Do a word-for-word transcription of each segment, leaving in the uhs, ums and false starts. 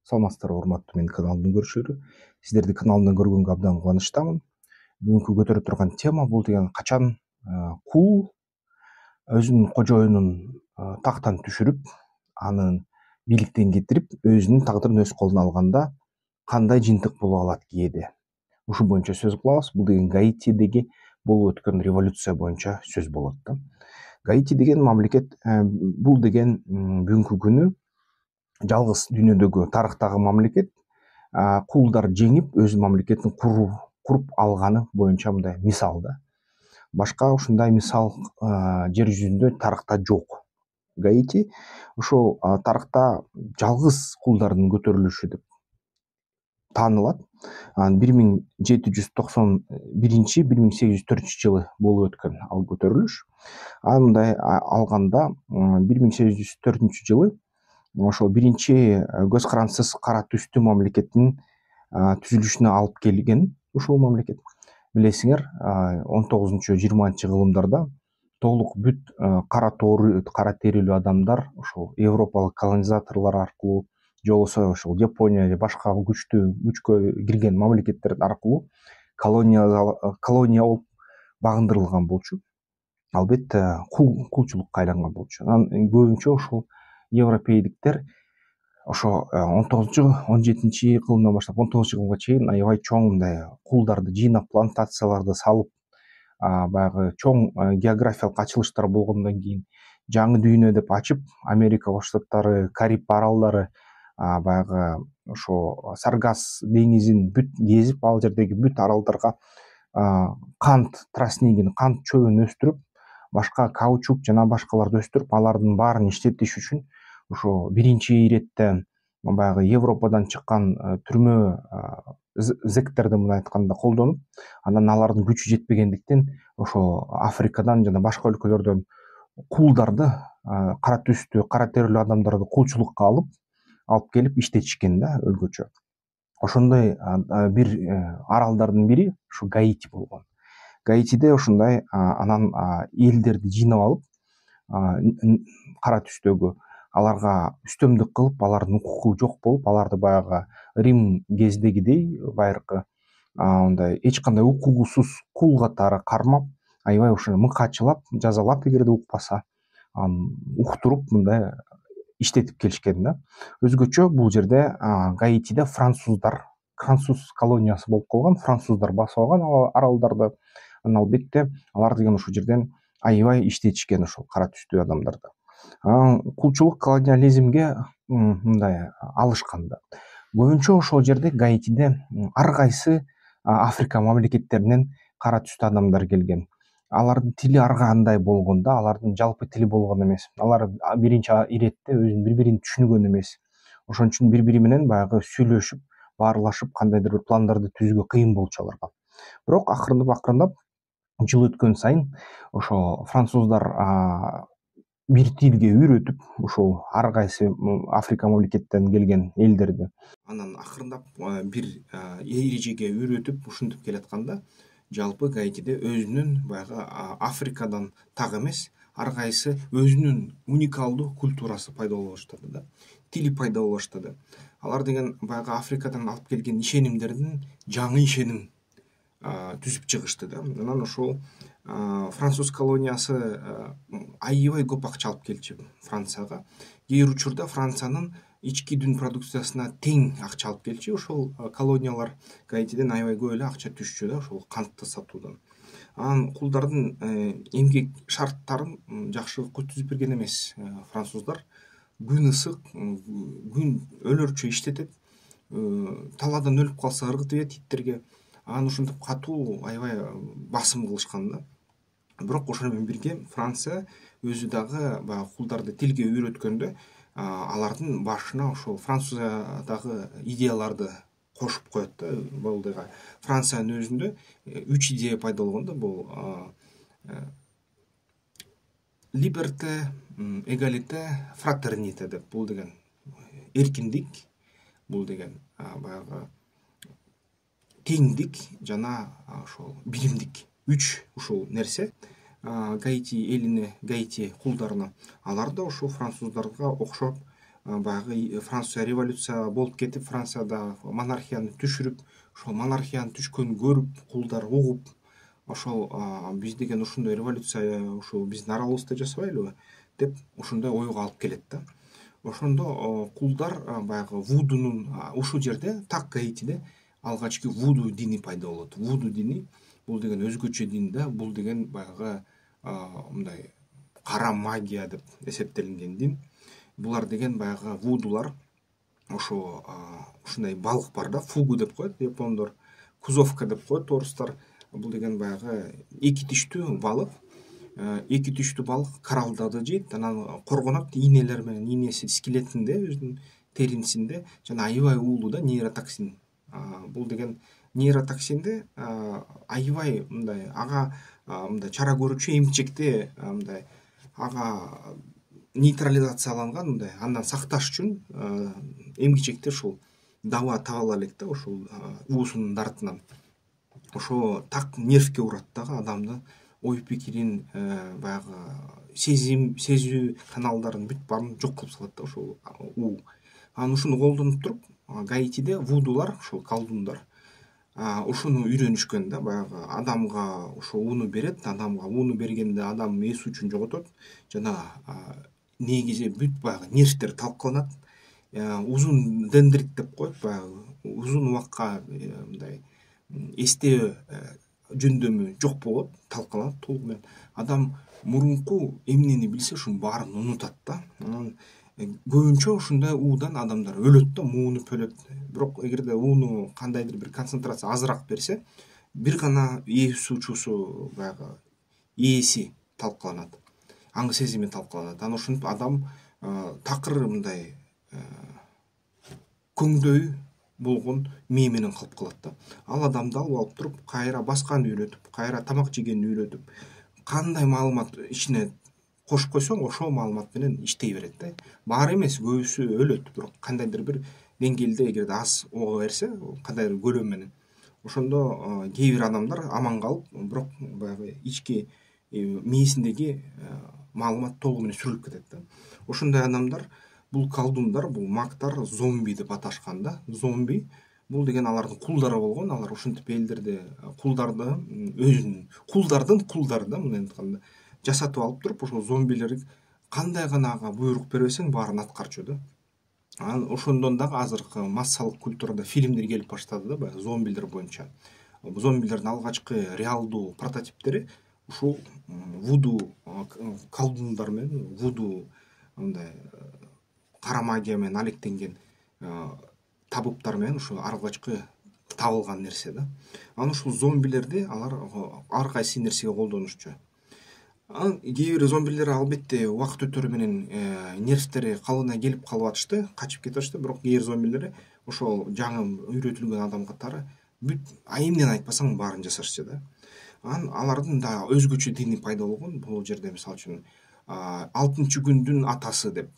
Саламатсыздарбы, урматтуу менин каналымдын көрүүчүлөрү. Сиздерди каналымдан көргөнгө абдан кубанычтамын. Бүгүнкү көтөрө турган тема бул деген качан кул өзүнүн кожоюнун тактан түшүрүп, аны бийликтен кетирип, өзүнүн тагдырын өз колуна алганда кандай жыйынтык болуп алат кээде. Ушул боюнча сөз кылабыз. Бул деген Гаитидеги болуп өткөн революция боюнча сөз болот да. Гаити деген мамлекет, бул деген бүгүнкү күнү жалгыз дүйнөдөгү тарыхтагы мамлекет кулдар жеңип өз мамлекетин куруп алганы боюнча мындай мисал да. Башка ушундай мисал жер жүзүндө тарыхта жок. Гаити ошол тарыхта жалгыз кулдардын көтөрүлүшү деп таанылат. бир миң жети жүз токсон биринчи бир миң сегиз жүз төртүнчү жылы болуп өткөн ал көтөрүлүш. Андай алганда бир миң сегиз жүз төртүнчү жылы ошол биринчи көз карансыз кара түстүү мамлекеттин түзүлүшүнө алып келген ушул мамлекет. Билесиңер, он тогузунчу жыйырманчы кылымдарда толук бүт кара тоору, кара терилүү адамдар ошол европалык колонизаторлор аркылуу же болбосо ошол Япония же башка күчтүү күчкө кирген мамлекеттер аркылуу колония колония болуп багындырылган болчу. Албетте кулчулукка айланган болчу. Анан көбүнчө ошол европейдиктер ошо он тогузунчу он жетинчи кылымдан баштап он тогузунчу кылымга чейин аябай чоң мындай кулдарды жыйнап, плантацияларды салып, баягы чоң географиялык ачылыштар болгондон кийин жаңы дүйнө деп ачып, Америка Кош Штаттары, Кариб аралдары, баягы ошо Саргас деңизин бүт кезип, ал жердеги бүт аралдарга кант тростнигин, кант чөбүн өстүрүп, башка каучук жана башкаларды өстүрүп, алардын баарын иштетиш үчүн ошо биринчи иретте баягы Европадан чыккан түрмө зектерди мындай айтканда колдонуп, анан алардын күчү жетпегендиктен ошо Африкадан жана башка өлкөлөрдөн кулдарды, кара түстүү, кара терилүү адамдарды кулчулукка алып, алып келип иштетишкен да өлкөчө. Ошондой бир аралдардын бири ушу Гаити болгон. Гаитиде ушундай анан элдерди жыйнап алып, кара түстөгү аларга үстөмдүк кылып, алардын укугу жок болуп, аларды баягы Рим кезидегидей байыркы мындай эч кандай укугусуз кул катары кармап, аябай ушуну мыкаачылап, жазалап, эгерде укпаса, уктуруп мындай иштетип келишкен да. Өзгөчө бул жерде Гаитиде француздар, француз колониясы болуп калган, француздар басып алган аралдарды. Анан албетте алар деген ушул жерден аябай иштетишкен ошол кара түстүү адамдарды. Кулчулук, колониализмге мындай алышкан да. Көбүнчө ошол жерде Гаитиде ар кайсы Африка мамлекеттеринен кара түстүү адамдар келген. Алардын тили ар кандай болгон да, алардын жалпы тили болгон эмес. Алар биринчи иретте өзүн бири-бирин түшүнгөн эмес. Ошон үчүн бири-бири менен баягы сүйлөшүп, баарлашып, кандайдыр бир пландарды түзүүгө кыйын болчу аларга. Бирок акырындап-акырындап жыл өткөн сайын ошо француздар бир тилге үйрөтүп, ушул ар кайсы Африка мамлекеттеринен келген элдерди анан акырындап бир эрежеге үйрөтүп, ушинтип келатканда, жалпы Гаитиде өзүнүн баягы Африкадан так эмес, ар кайсы өзүнүн уникалдуу культурасы пайда боло баштады да, тили пайда боло баштады. Алар деген баягы Африкадан алып келген ишенимдердин жаңы ишеним түзүп чыгышты да. Анан ошол француз колониясы аябай көп акча алып келчү Францияга. Кээ бир учурда Франциянын ички дүн продукциясына тең акча алып келчү. Ошол колониялар Гаитиден аябай көп эле акча түшчү да, ошол кантты сатуудан. Анан кулдардын эмгек шарттарын жакшы түзүп берген эмес француздар. Күн ысык, күн өлөрчө иштетет, талаадан өлүп калса ыргытып ийет иттерге. Анан ушинтип катуу аябай басым кылышкан да. Бирок ошону менен бирге Франция өзү дагы баягы кулдарды тилге үйрөткөндө алардын башына ошол Франциядагы идеяларды кошуп коет да. Бул дагы Франциянын өзүндө үч идея пайда болгон да. Бул либерте, эгалите, фратерните деп. Бул деген эркиндик, бул деген баягы теңдик жана ошол биримдик. Үч ушул нерсе Гаити элине, Гаити кулдарына. Алар да ошол француздарга окшоп баягы Франция революция болуп кетип, Францияда монархияны түшүрүп, ошол монархиянын түшкөнүн көрүп, кулдар угуп, ошол биз деген ушундай революция ушул биздин аралыбызда жасабайлыбы деп ушундай ойго алып келет да. Ошондо кулдар баягы вудунун ушул жерде так Гаитиде алгачкы вуду дини пайда болот. Вуду дини бул деген өзгөчө дин да, бул деген баягы мындай кара магия деп эсептелинген дин. Булар деген баягы вудулар ошо ушундай балык бар да, фугу деп коет япондор, кузовка деп коет орустар. Бул деген баягы эки тиштүү балык. Эки тиштүү балык кораллдарды жейт, анан коргонот ийнелер менен, ийнеси скелетинде, өзүнүн терисинде жана аябай уулуу да нейротоксин. Бул деген нейротоксинди аябай мындай ага мындай чара көрүүчү эмчекте мындай ага нейтрализацияланган, мындай андан сакташ үчүн эмгичекте ушул даба таба ала элек да, ушул уусунун дартынан. Ошо так нервке урат дагы, адамдын ой пикирин, баягы сезим, сезүү каналдарын бүт баарын жок кылып салат да ошол уу. Анан ушуну колдонуп туруп, Гаитиде вудулар, ушул колдундар ушуну үйрөнүшкөн да, баягы адамга ошо ууну берет, адамга ууну бергенде адам эс үчүн жоготот жана негизи бүт баягы нервтер талкаланат. Узун дендрит деп коет, баягы узун убакка мындай эстөө жөндөмү жок болот, талкаланат толугу менен. Адам мурунку эмнени билсе ушунун баарын унутат да. Анан көбүнчө ушундай уудан адамдар өлөт да, муунуп өлөт. Бирок эгерде ууну кандайдыр бир концентрация азыраак берсе, бир гана эс учуусу баягы ээси талкаланат, аң сезими талкаланат. Анан ошентип адам такыр мындай көңдөй болгон мээ менен калып калат да. Ал адамды алып алып туруп, кайра басканды үйрөтүп, кайра тамак жегенди үйрөтүп, кандай маалымат ичине кошуп койсоң, ошол маалымат менен иштей берет да. Баары эмес, көбүсү өлөт, бирок кандайдыр бир деңгээлде эгерде аз ого берсе, кандайдыр көлөм менен, ошондо кээ бир адамдар аман калып, бирок баягы ички мээсиндеги маалымат толугу менен сүрүлүп кетет да. Ошондой адамдар, бул колдундар, бул магтар зомби деп аташкан да. Зомби бул деген алардын кулдары болгон, алар ушинтип элдерди, кулдарды өзүнүн кулдардын кулдары да, мындай айтканда жасатып алып туруп, ошол зомбилер кандай гана ага буйрук бербесең баарын аткарчу да. Анан ошондон дагы азыркы массалык культурада фильмдер келип баштады да, баягы зомбилер боюнча. Зомбилердин алгачкы реалдуу прототиптери ушул вуду колдундар менен, вуду мындай кара магия менен алектенген табыптар менен ушул алгачкы табылган нерсе да. Анан ушул зомбилерди алар ар кайсы нерсеге колдонушчу. Анан кээ бир зомбилер албетте убакыт өтөрү менен нервтери калыбына келип калып атышты, качып кетип атышты, бирок кээ бир зомбилер ошол жаңы үйрөтүлгөн адам катары бүт эмнени айтпасаң баарын жасашчу да. Анан алардын да өзгөчө дини пайда болгон. Бул жерде мисалы үчүн алтынчы күндүн атасы деп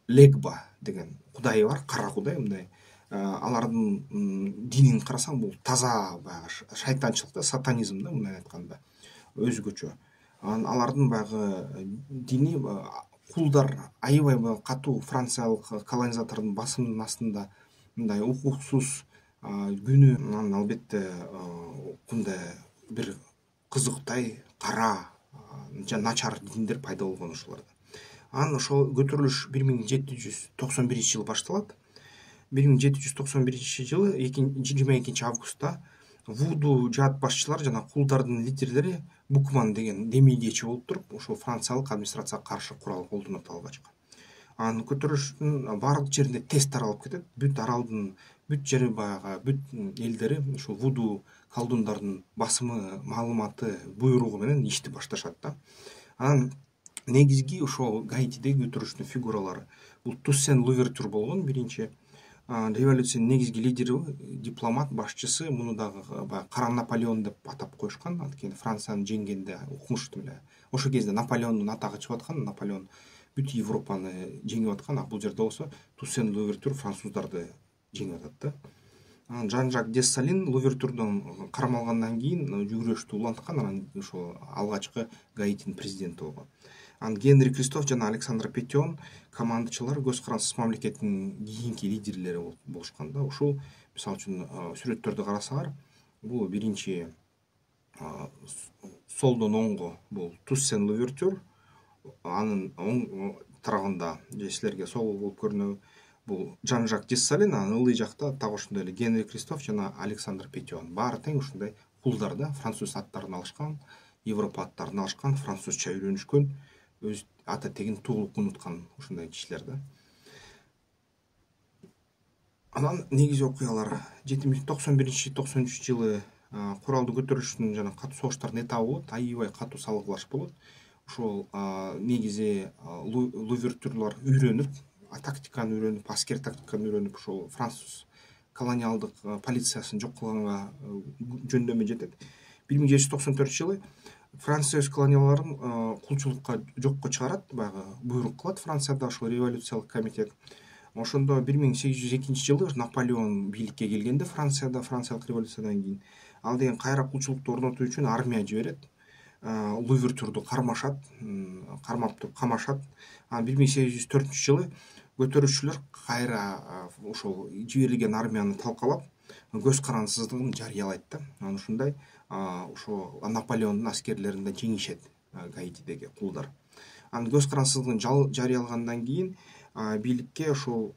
Легба деген кудайы бар, кара кудай. Мындай алардын динин карасаң, бул таза баягы шайтанчылык да, сатанизм да, мындай айтканда өзгөчө. Анан алардын баягы дини кулдар аябай катуу франциялык колонизатордун басымынын астында мындай укуксуз күнү, анан албетте мындай бир кызыктай кара жана начар диндер пайда болгон ошолордо. Анан ошол көтөрүлүш бир миң жети жүз токсон биринчи жылы башталат. бир миң жети жүз токсон биринчи жылы жыйырма экинчи августта вуду жаат башчылар жана кулдардын лидерлери Букман деген демейдечи болуп туруп, ошол франциялык администрацияга каршы курал колдонот алгачкы. Анан көтөрүлүштүн баардык жерине тез таралып кетет. Бүт аралдын бүт жери баягы бүт элдери ушул вуду колдундардын басымы, маалыматы, буйругу менен ишти башташат да. Анан негизги ошол Гаитидеги көтөрүлүштүн фигуралары бул Туссен Лувертюр болгон, биринчи революциянын негизги лидери, дипломат, башчысы. Муну дагы баягы Кара Наполеон деп атап коюшкан. Анткени Францияны жеңгенде укмуштум эле. Ошол кезде Наполеондун атагы чыгып аткан. Наполеон бүт Европаны жеңип аткан. А бул жерде болсо Туссен Лувертюр француздарды жеңип атат да. Анан Жан-Жак Дессалин Лувертюрдон кармалгандан кийин жүгүрүштү уланткан, анан ошол алгачкы Гаитинин президенти болгон. Анан Генри Кристоф жана Александр Петен командачылар көз карансыз мамлекеттин кийинки лидерлери болушкан да. Ушул мисалы үчүн сүрөттөрдү карасаңар, бул биринчи солдон оңго бул Туссен Лувертюр, анын оң тарабында же силерге сол болуп көрүнөбү бул Жан-Жак Дессалин, анын ылдый жакта так ошондой эле Генри Кристоф жана Александр Петен. Баары тең ушундай кулдар да, француз аттарын алышкан, Европа аттарын алышкан, французча үйрөнүшкөн, өз ата тегин туулук унуткан ушундай кишилер да. Анан негизи окуялар токсон биринчи токсон үчүнчү жылы куралдуу көтөрүлүштүн жана катуу согуштардын этабы болот, аябай катуу салгылаш болот. Ошол негизи Лувертюрлар үйрөнүп, тактиканы үйрөнүп, аскер тактиканы үйрөнүп, ошол француз колониалдык полициясын жок кылганга жөндөмү жетет. бир миң жети жүз токсон төртүнчү жылы Франция өз колонияларын кулчулукка жокко чыгарат, баягы буйрук кылат Францияда ошол революциялык комитет. Ошондо бир миң сегиз жүз экинчи жылы Наполеон бийликке келгенде Францияда, Франциялык революциядан кийин ал деген кайра кулчулукту орнотуу үчүн армия жиберет. Лувертюрду кармашат, кармап туруп камашат. Анан бир миң сегиз жүз төртүнчү жылы көтөрүүчүлөр кайра ошол жиберилген армияны талкалап, көз карансыздыгын жарыялайт да. Анан ушундай ошо Наполеондун аскерлерин да жеңишет Гаитидеги кулдар. Анан көз карансыздыгын жарыялагандан кийин бийликке ошол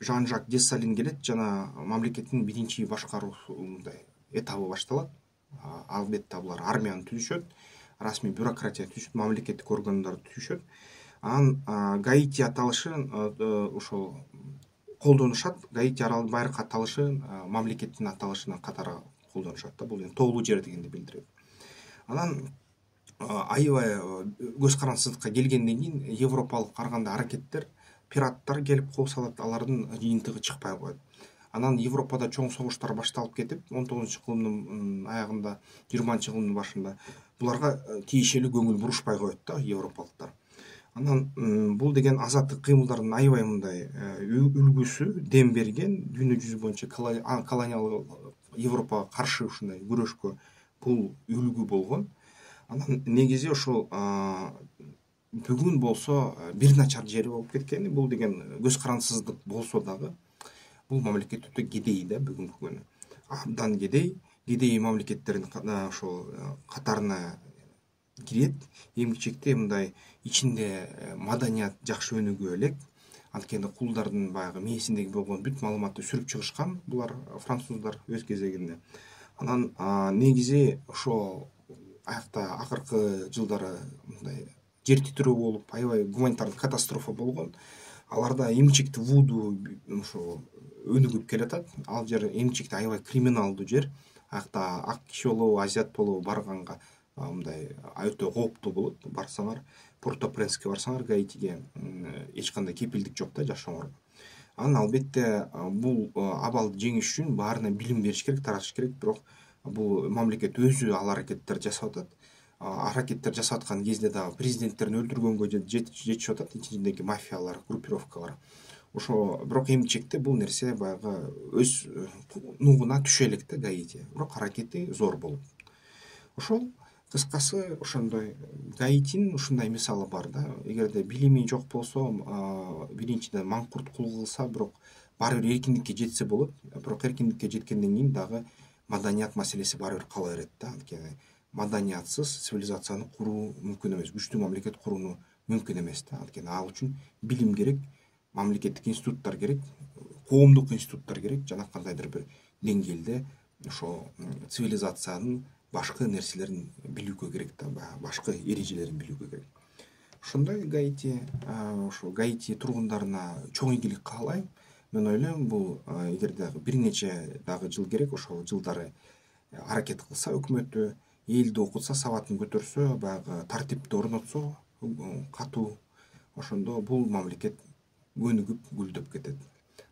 Жан-Жак Дессалин келет жана мамлекеттин биринчи башкаруусундай этабы башталат. Албетте булар армияны түзүшөт, расмий бюрократия түзүшөт, мамлекеттик органдарды түзүшөт. Анан Гаити аталышын ошол колдонушат. Гаити аралын байыркы аталышын мамлекеттин аталышына катары колдонушат да. Бул эми тоолуу жер дегенди билдирет. Анан аябай көз карансыздыкка келгенден кийин европалык караганда аракеттер, пираттар келип кол салат, алардын жыйынтыгы чыкпай коет. Анан Европада чоң согуштар башталып кетип, он тогузунчу кылымдын аягында, жыйырманчы кылымдын башында буларга тиешелүү көңүл бурушпай коет да европалыктар. Анан бул деген азаттык кыймылдардын аябай мындай үлгүсү, дем берген, дүйнө жүзү боюнча колониалдык Европага каршы ушундай күрөшкө бул үлгү болгон. Анан негизи ошол бүгүн болсо бир начар жери болуп кеткени, бул деген көз карансыздык болсо дагы бул мамлекет өтө кедей да бүгүнкү күнү. Абдан кедей, кедей мамлекеттердин ошол катарына кирет. Эң кичекте мындай ичинде маданият жакшы өнүгө элек. Анткени кулдардын баягы мээсиндеги болгон бүт маалыматты сүрүп чыгышкан булар француздар өз кезегинде. Анан негизи ошо аякта акыркы жылдары мындай жер титирөө болуп, аябай гуманитардык катастрофа болгон. Аларда эмчекти вуду ошо өнүгүп келатат. Ал жер эмчекти аябай криминалдуу жер. Аякта ак киши болобу, азиат болобу барганга мындай өтө кооптуу болот. Барсаңар, Порто-Пренске барсаңар, Гаитиге эч кандай кепилдик жок да жашооңорго. Анан албетте бул абалды жеңиш үчүн баарына билим бериш керек, таратыш керек, бирок бул мамлекет өзү ал аракеттер жасап атат. Аракеттер жасап аткан кезде дагы президенттерин өлтүргөнгө жетишип атат, ичиндеги мафиялар, группировкалар. Ошо бирок эмчекте бул нерсе баягы өз нугуна түшө элек да Гаити. Бирок аракети зор болот. Ошол кыскасы ошондой Гаитинин ушундай мисалы бар да. Эгерде билими жок болсо, биринчиден маңкурт кул кылса, бирок баары бир эркиндикке жетсе болот. Бирок эркиндикке жеткенден кийин дагы маданият маселеси баары бир кала берет да. Анткени маданиятсыз цивилизацияны куруу мүмкүн эмес, күчтүү мамлекет курууну мүмкүн эмес да. Анткени ал үчүн билим керек, мамлекеттик институттар керек, коомдук институттар керек, жана кандайдыр бир деңгээлде ошо цивилизациянын башкы нерселерин билүүгө керек да, башкы эрежелерин билүүгө керек. Ошондой Гаити, ошо Гаити тургундарына чоң ийгилик каалайм. Мен ойлойм, бул эгерде бир нече дагы жыл керек, ошол жылдары аракет кылса өкмөтү, элди окутса, сабатын көтөрсө, баягы тартипти орнотсо, катуу, ошондо бул мамлекет өнүгүп, гүлдөп кетет.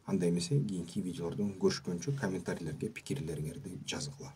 Анда эмесе кийинки видеолордон көрүшкөнчө комментарийлерге пикирлериңерди жазгыла.